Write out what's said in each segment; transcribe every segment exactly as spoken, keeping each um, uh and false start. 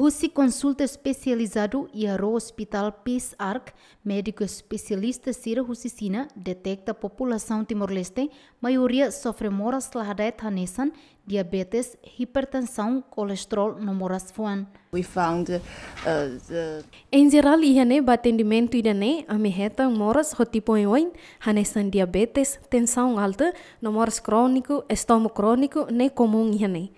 Husi konsulta espesializadu iha ró Hospital Peace Ark, médiku espesialista sira husi Xina deteta populasaun Timor-Leste maioria sofre moras la hada'et hanesan diabetes, hipertensaun, kolesterol no moras fuan. We found uh, the Em jerál, iha ne'e ba atendimentu ida-ne'e, ami hetan moras ho tipu oin-oin, hanesan diabetes, tensaun alta, no moras króniku, estómagu króniku, ne'e komún iha ne'e.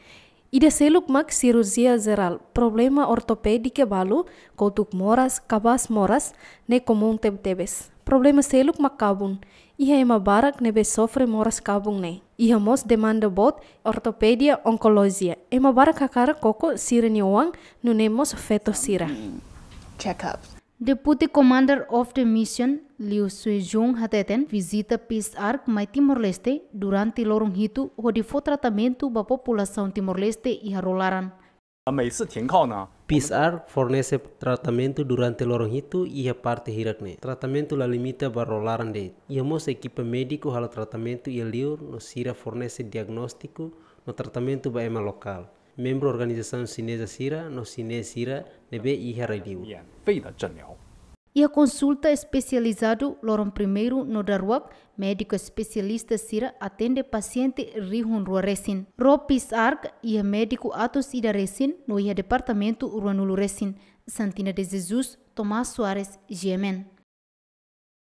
Ida seluk mak sirurjia jerál, problema ortopédika balu, kotuk moras, kabas moras, ne'e komún tebetebes. Problema seluk mak kabun, iha ema barak ne'ebé sofre moras kabun ne'e. Iha mós demanda boot ortopedia, onkolojia. Ema barak hakarak koko sira-nia oan, nune'e mós feto sira. Checkups. Deputy Commander of the Mission, Liu Suijun hateten, vizita Peace Ark mai Timor-Leste durante loron hitu hodi fó tratamentu ba populasaun Timor-Leste iha ró laran. 每次停靠呢， Peace Ark fornese tratamentu durante loron hitu iha parte hirak ne'e. Tratamentu la limita ba ró laran de'it. Iha mós ekipa médiku halo tratamentu iha liur no sira fornese diagnóstiku no tratamentu ba ema lokál, membru organizasaun xineza sira no xinés sira ne'ebé iha rai-liur. 免费的诊疗。 Iha konsulta espesializadu loron primeiru no daruak, médiku espesialista sira atende pasiente rihun rua resin. Ró Peace Ark iha médiku atus ida resin no iha departamentu ruanulu resin. Santina de Jesus, Tomás Soares, G M N.